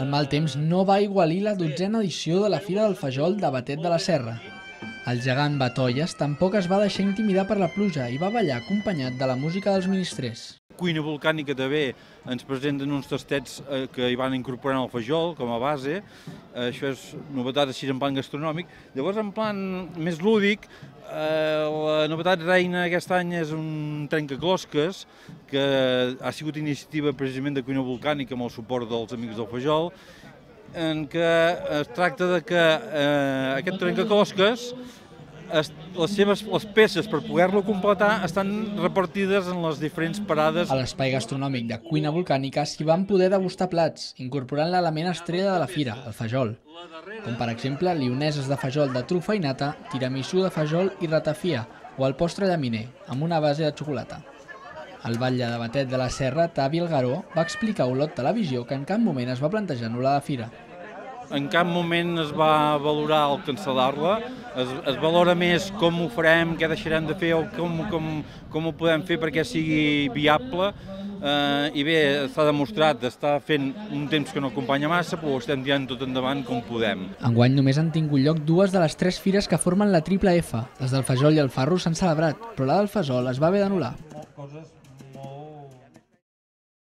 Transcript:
El mal temps no va aigualir la 12a edició de la Fira del Fajol de Batet de la Serra. El gegant Batolles tampoc es va deixar intimidar per la pluja i va ballar acompanyat de la música dels ministrers. Cuina Volcànica també ens presenten uns tastets que hi van incorporant el fajol com a base. Això és novetat així en plan gastronòmic. Llavors, en plan més lúdic, la novetat reina aquest any és un trencaclosques que ha sigut iniciativa precisament de Cuina Volcànica amb el suport dels Amics del Fajol, en què es tracta de que aquest trencaclosques, les peces per poder-lo completar estan repartides en les diferents parades. A l'espai gastronòmic de Cuina Volcànica s'hi van poder degustar plats, incorporant l'element estrella de la fira, el fajol, com per exemple lioneses de fajol de trufa i nata, tiramisú de fajol i ratafia, o el postre llaminer, amb una base de xocolata. El batlle de Batet de la Serra, Tavi Elgaró, va explicar a Olot Televisió que en cap moment es va plantejar anul·lar la fira. En cap moment es va valorar el cancel·lar-la, es valora més com ho farem, què deixarem de fer o com ho podem fer perquè sigui viable. I bé, s'ha demostrat, està fent un temps que no acompanya massa, però ho estem tirant tot endavant com podem. Enguany només han tingut lloc 2 de les 3 fires que formen la Triple F. Les del Fajol i el Farro s'han celebrat, però la del Fajol es va haver d'anul·lar.